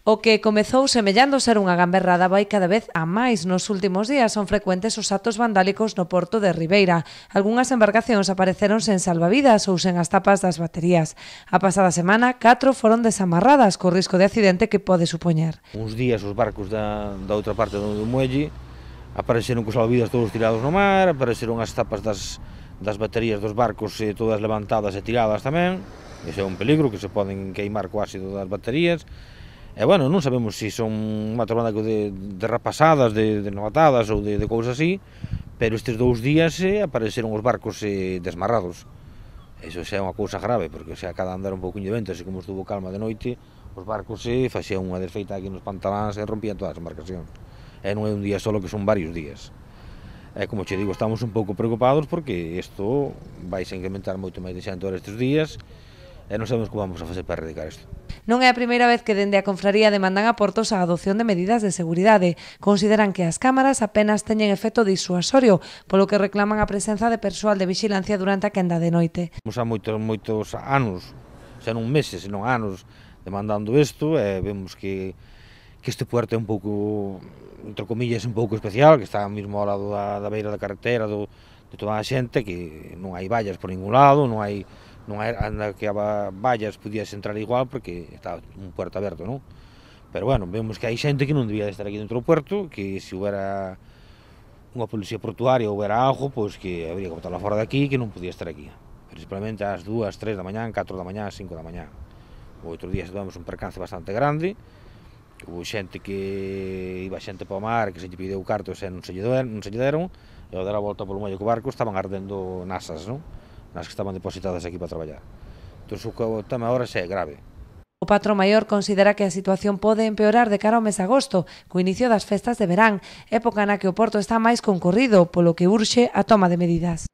O que comezou semellando ser unha gamberrada vai cada vez a máis. Nos últimos días son frecuentes os actos vandálicos no porto de Ribeira. Algunhas embarcacións apareceron sen salvavidas ou sen as tapas das baterías. A pasada semana, 4 foron desamarradas co risco de accidente que pode supoñer. Uns días os barcos da outra parte do muelle apareceron cos salvavidas todos tirados no mar, apareceron as tapas das baterías dos barcos todas levantadas e tiradas tamén. Ese é un peligro, que se poden queimar co ácido das baterías. E, bueno, non sabemos se son un matro vandálico de rapasadas, de novatadas ou de cousas así, pero estes 2 días apareceron os barcos desmarrados. Iso xa é unha cousa grave, porque cada andar un pouquinho de vento, así como estuvo calma de noite, os barcos facían unha desfeita aquí nos pantaláns e rompían todas as embarcacións. E non é un día solo, que son varios días. E, como che digo, estamos un pouco preocupados porque isto vai se incrementar moito máis de xente estes días e non sabemos como vamos a facer para erradicar isto. Non é a primeira vez que dende a confraría demandan a Portos a adopción de medidas de seguridade. Consideran que as cámaras apenas teñen efecto disuasorio, polo que reclaman a presenza de persoal de vixilancia durante a quenda de noite. Vamos a moitos anos, xa non meses, senón anos, demandando isto, e vemos que este puerto é un pouco, entre comillas, un pouco especial, que está mesmo ao lado da beira da carretera de toda a xente, que non hai vallas por ningún lado, non hai anda que a vallas podías entrar igual porque está un puerto aberto, non? Pero, bueno, vemos que hai xente que non debía de estar aquí dentro do puerto, que se houbera unha policía portuaria ou houbera algo, pois que habría que botarla fora de aquí, que non podía estar aquí. Principalmente ás 2, 3 da mañá, 4 da mañá, 5 da mañá. Outro día tivemos un percance bastante grande, houve xente que iba xente para o mar, que se lle pideu cartos e non se lle deron, e ao dar a volta polo medio co barco estaban ardendo nasas, non? Nas que estaban depositadas aquí para traballar. Entón, o tema agora xa é grave. O patrón maior considera que a situación pode empeorar de cara ao mes de agosto, co inicio das festas de verán, época na que o porto está máis concorrido, polo que urxe a toma de medidas.